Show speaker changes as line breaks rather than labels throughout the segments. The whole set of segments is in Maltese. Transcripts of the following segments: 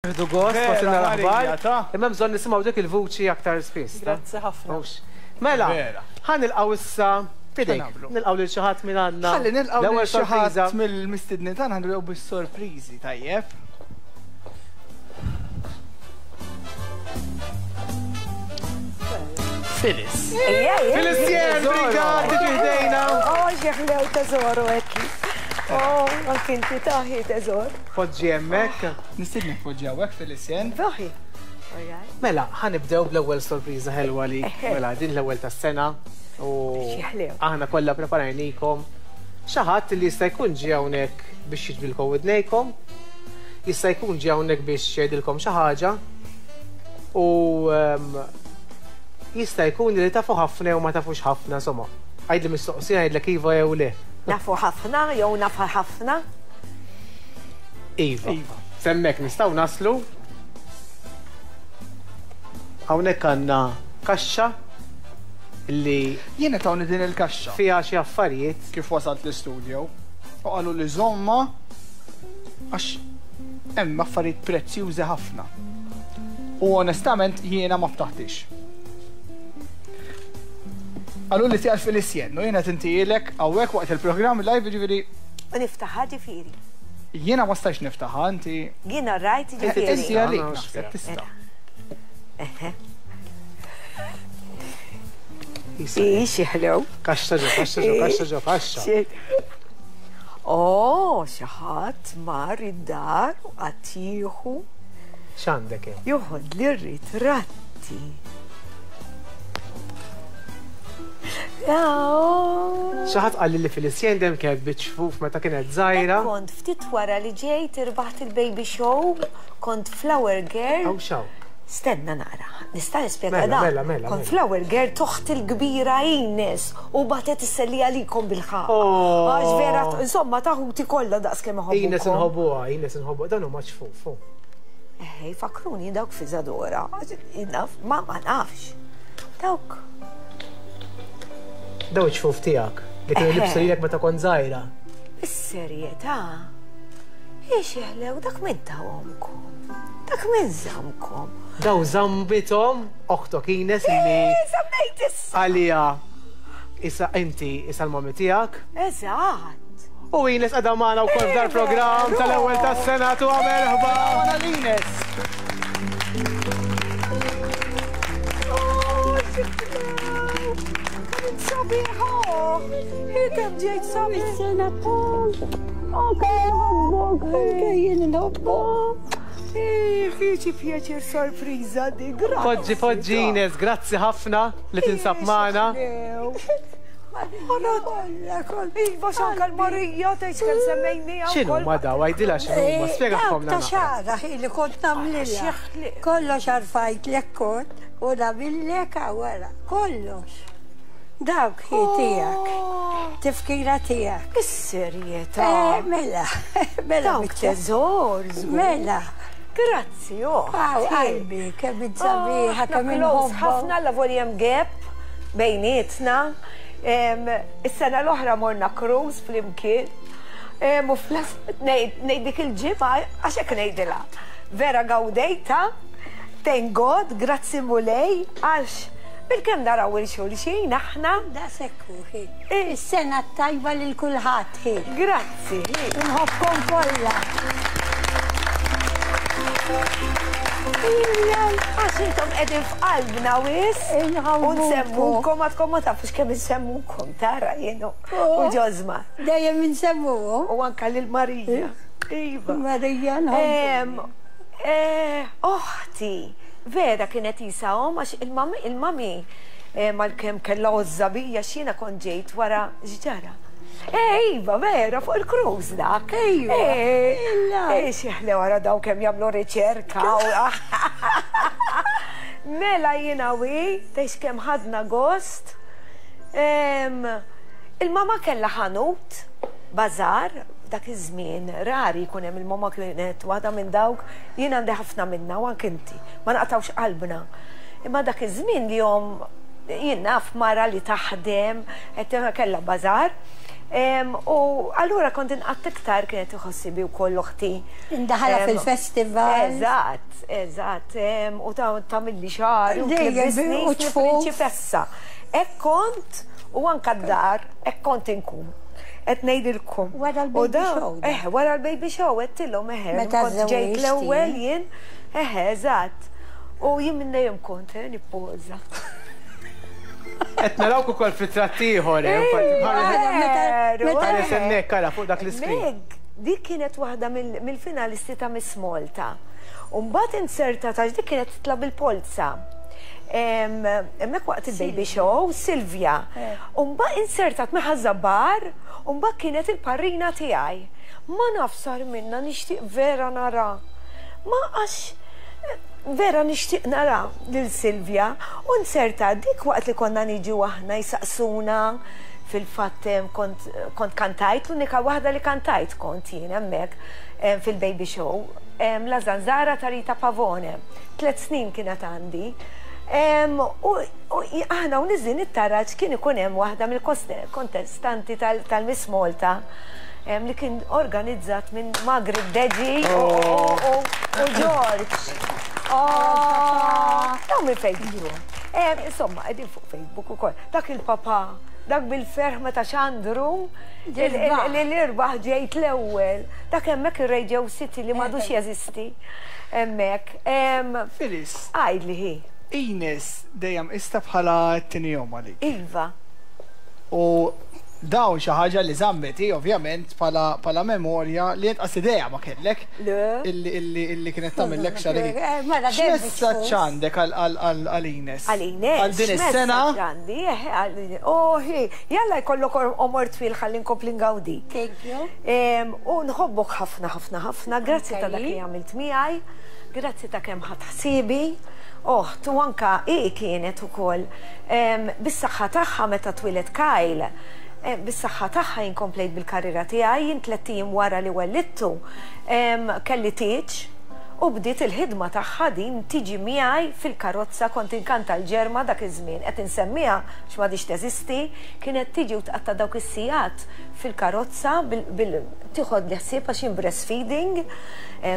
Nieħdu gost wasilna l-aħbar. Imma hemm bżonn nisimgħu dik il-vuċi aktar spiss.
Grazzi ħafna.
Mela, ħa nilqgħu issa f'idejk. Nilqgħu lil xi ħadd minn għandna.
Ħalli nilqgħu lil xi ħadd mill-mistednin tagħna nibdew bis-sorpriżi, tajjeb. Phyllis.
Phyllis Jen, Brigad, tiġi ħdejna.
Oh, xieħlew teżoru ekki. Oh, anki inti taħi teżor.
Poġġi hemmhekk.
Nistiednek poġġi hawnhekk Phyllis Jen.
Taħi.
Mela, ħa nibdew bl-ewwel sorpriża ħelwa li mela din l-ewwel tas-sena u aħna kollha preparajnikom xi ħadd li jista' jkun ġie hawnhekk biex jiġbilkom widnejkom, jista' jkun ġie hawnhekk biex jgħidilkom xi ħaġa u ehm, jista' jkun li tafu ħafna jew ma tafux ħafna, insomma. Għidli mistoqsija ngħidlek iva jew le.
Nafu ħafna jew nafa ħafna?
Iva. Iva. S'hemmhekk nistgħu naslu. Hawnhekk għandna kaxxa li
Jiena tawni din il-kaxxa.
Fiha xi affarijiet.
Kif wasalt l-istudio u qalu li żommha għax hemm affarijiet prezzjużi ħafna. U onestament jiena ma ftaħtix. Qalu li tiegħek fil-isjen u jiena tintijielek hawnhekk waqt il-programm live jiġifieri.
U niftaħha ġifieri.
Jiena ma stajtx niftaħha, inti.
Jiena rajt ġifieri.
Inti għalik naħseb tista'.
Eħe. Ii, xi ħlew.
Kaxxa ġo, kaxxa ġo, kaxxa ġo, kaxxa.
Oh, xi ħadd mar id-dar u qatt jieħu.
X'għandek hemm?
Joħodli r-ritratti.
Xi ħadd qalli li Felicien dejjem kienet biċ-ċfuf meta kienet żgħira.
Kont ftit wara li ġejt irbaħt il-baby show, kont flower girl.
Hawn x'hawn?
Stenna naqra, nista' nispjega
Mela,
dan?
mela, mela,
Kont
mela.
flower girl t'oħti l-kbira Ines u bagħtet issellija għalikom bil-ħaqq.
Oh!
Għax vera, insomma, ta' ħuti kollha daqs kemm iħobbukom.
Ines inħobbuha, Ines inħobbuha, dan huma ċfuf. hu.
Eħe, jfakkruni dawk fi Zadora. Naf, ma ma nafx. Dawk.
Daw iċ-ċfuf tiegħek li kienu libsu lilek meta kont żgħira.
Is-serjetà. Ix jeħlew dak min tawhomkom. Dak min żammkom.
Daw żammithom oħtok Ines li.
Eh, żammejt issa.
Għalija issa inti issa l-mami tiegħek.
Eżatt.
U Ines qiegħda magħna wkoll f'dar programm tal-ewwel tas-sena tu merħba.
Magħna l-Ines.
Sabiħa! Kemm ġejt sabiħ!
Sena Oh, kemm Anke jien nħobbok.
Ħiċi pjaċir sorpriża di, grazzi.
Poġġi, poġġi Ines, grazzi ħafna li tinsab magħna.
Iva xanka l-Marija tgħid kemm semmejniha.
X'inhu ma daw għajdilha x'inhu ma spjegahom
Ta' xara li kont nagħmlilha. Kollox arfajtlek kont u nagħmillek wara kollox. Dawk hi tiegħek. Tifkira tiegħek.
Is-serjetà.
Eh, mela, mela.
Dawk teżor.
Mela.
Grazzi, oh.
Aw, qalbi, kemm sabiħa, kemm inħobb.
Ħafna la volja hemm gap bejnietna. Is-sena l-oħra morna cruise flimkien. U ngħid dik il-ġimgħa għax hekk ngħidilha. Vera gawdejta, thank God, grazzi Mulej, għax bilkemm naraw il xulxin aħna.
Daqshekk hu, hi. Is-sena t-tajba lil kulħadd, hi.
Grazzi, hi.
Inħobbkom kollha.
Għax intom qegħdin f'qalbna wis. U nsemmukom għadkom ma tafux kemm insemmukom tara jienu. U Ġożma.
Dejjem insemmuhom.
U anka lil Marija. Iva.
Marija nħobbu.
Oħti, vera kienet isa omm għax il-mami mal-kemm kellha għożża bija x'jiena kont ġejt wara x'ġara. Eh, iva, vera, fuq il-cruise dak.
Iva.
Eh, xi ħlew wara daw kemm jagħmlu riċerka. Mela jiena wi, tgħix kemm ħadna gost. Il-mama kellha ħanut, bażar, dak iż-żmien rari jkun hemm il-mama kienet waħda minn dawk, jien għandi ħafna minnha u anke inti, ma naqtgħux qalbna. Imma dak iż-żmien li jom jien naf mara li taħdem, qed kellha bażar. U allura kont inqatt iktar kienet iħossibi wkoll oħti.
Indaħala fil-festival.
Eżatt, eżatt. U tagħmilli xagħri u tlibbisni
u
prinċipessa. Hekk kont u anke d-dar hekk kont inkun. Qed ngħidilkom.
Wara l-baby show.
Eh, wara l-baby show għedtilhom eħe.
Meta
kont ġejt l-ewwel jien, eħe, eżatt. U jien minn dejjem kont eh, nippoża.
Qed narawk ukoll f'ritratt ieħor, eh, Ħares hemmhekk ara fuq dak l-iskrin.
Meg, dik kienet waħda mill-finalisti ta' Miss Malta. U mbagħad inzertat għax dik kienet titla' bil-polza. Hemmhekk waqt il-baby show, Silvia. U mbagħad inzertat minn Ħaż-Żabbar u mbagħad kienet il-parrina tiegħi. Ma naf sar minnha nixtieq vera nara. Ma għax vera nixtieq nara lil Silvia u nzerta dik waqt li konna niġu aħna jsaqsuna fil-fatt kont kont kantajt l-unika waħda li kantajt kont jien hemmhekk fil-baby show La Zanzara ta' Rita Pavone. Tlet snin kienet għandi. U aħna u niżlin it-taraġ kien ikun hemm waħda mill-kontestanti tal-Miss Malta li kien organizzat minn Margaret Deġi u George. Dawn minn fejn ġew. Insomma, qegħdin fuq Facebook ukoll. Dak il-papà, dak bil-ferħ meta xandru li l-irbaħ ġejt l-ewwel. Dak hemmhekk ir-Radio City li m'għadux jeżisti hemmhekk.
Phyllis.
Għidli hi.
Ines dejjem qistha bħala t-tieni omm għalik.
Iva.
U dawn xi ħaġa li żammet hi ovvjament bħala bħala memorja li int qas idea ma kellek.
Le.
Illi illi illi kienet tagħmillek xagħrek.
Mela dejjem
X'messaġġ għandek għal għal għal għal Ines?
Għal Ines.
Għal din is-sena?
X'messaġġ għandi? Eħe għal Oh hi, jalla jkollok għomor twil ħalli nkompli ngawdik.
Thank you.
U nħobbok ħafna ħafna ħafna, grazzi ta' dak li għamilt miegħi, grazzi ta' kemm ħadt ħsiebi. Oħt u anka hi kienet ukoll bis-saħħa tagħha meta twieled Kyle, bis-saħħa tagħha jien komplejt bil-karriera tiegħi, jien tlett ijiem wara li wellidtu kelli tieġ u bdiet il-ħidma tagħha din tiġi miegħi fil-karozza kont inkanta l-Ġerma dak iż-żmien, qed insemmiha għax m'għadhiex teżisti, kienet tiġi u tqatta' dawk is-sigħat fil-karozza bil tieħodli ħsieb għax jien breastfeeding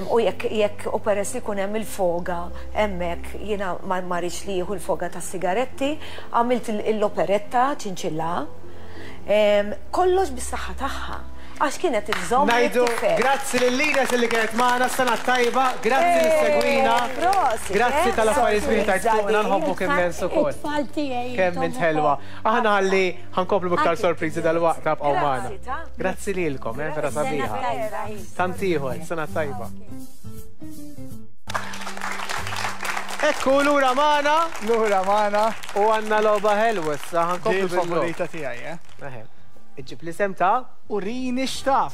u jekk jekk u peress li jkun hemm il-foga hemmhekk jiena ma ma rridx li jieħu l-foga tas-sigaretti, għamilt l-operetta ċinċilla. Kollox bis-saħħa tagħha għax kienet iżżomm
Ngħidu
lit-tifel.
grazzi lil Ines li kienet magħna, sena tajba, grazzi li segwina.
Prosit,
Grazzi
eh,
tal-affarijiet sbieħ tajt
sorpriża
fuqna
din.
nħobbuk immens ukoll.
It-tfal tiegħi.
Kemm int ħelwa. Aħna ħalli ħankomplu b'iktar sorpriżi dal-waqt tibqgħu magħna.
Grazzi ta.
Grazzi lilkom, eh, vera
Sena
sabiħa.
tajba.
Tant ieħor, sena tajba. Ekku lura magħna
Lura magħna.
u għandna logħba ħelwa issa
Di
ħankomplu bil-logħba.
l-favorita tiegħi, eh?
Eħe. Iġġib l-isem ta'
Urini x'taf.